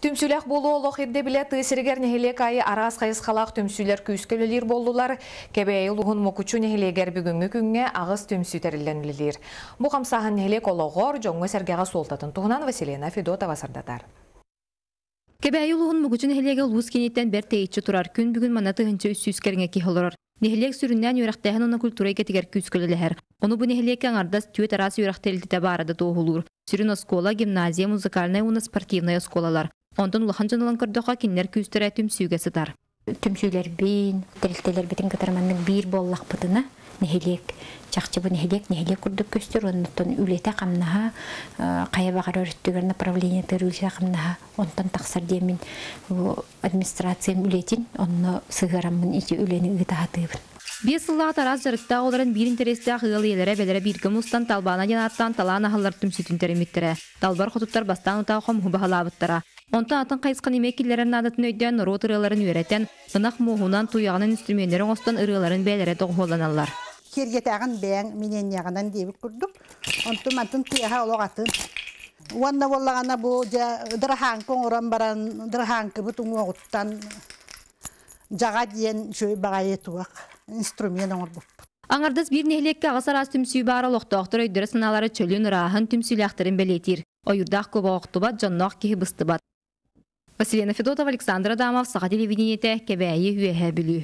Түмсүләк болу олық ерде біле тысыргер нехелек айы арас қайысқалақ түмсүлер күйскөлілер болдылар. Кебәйі ұлығын мұкучу нехелегер бүгінгі күнге ағыз түмсү тәрілленілер. Бұ қамсағын нехелек олығыр жоңғы сәргеға солтатын тұғынан Василина Федотова сардатар. Кебәйі ұлығын мұкучу нехелеге ұлғыз кенеттен бәр тейітші тұрар күн бүгін манаты ғынчы үссүйскеріңе кейхолырыр. Нехелек сүріннен үйрақтайын оны культурайға тегер күйскөлілер. Оны бұ нехелекке аңардас түйет арасы үйрақтелді барады тоғылыр. Сүрін оскола, гимназия, музыкальная уна спортивная осколалар. Ондан улахан жанылан көрдіға кенлер күйістірі түмсүйге сыдар. Түмсүйлер бейін, тәрілтелер бетін катарманның бір боллақ бұдына, нехелек, чақчы бұл нехелек күрдік көстер, ондан үлеті қамнаға, қая бағар өріттігер направление тәрілші қамнаға, ондан тақсар деймін администрациям үлетін, онны сығарамын ете үлені ұйтағатығын. Бес сыллаға тараз жарықта оларын бір интересті ақығыл елері бәлері біргі мұстан талбана жанаттан талан ағалар түмсүтін тәріметтірі. Талбар құтыптар бастан ұтау қом ғыбағалабыттыра. Онта атын қайысқан емеккелерін адатын өйден рот ұрыларын үйретен, ынақ мұғынан туяғының инструменттерін остан ұрыларын бәлері тоғыланалар. Кергетағын бәң менен яғынан дейбік күрдік. Онтым атын тияға олағатын. Уанна болағана бұл дыраханкың оран баран дыраханкы бұтың оғыттан жаға дейін жөй бағайы туақ инструмент оңыр бұп. Аңардас бір нехлекке ағасар аз түмсүй бары лоқтоқтыр өйдірі сыналары чөлін ұрағын түмсүйләқтірін бәлетір. Ойырдақ көбі оқтыбат, жаннақ кейі бұстыбат. Василина Федотова, Александр Адамов, Саға телевидениеті, Кебәйі үйәе білі.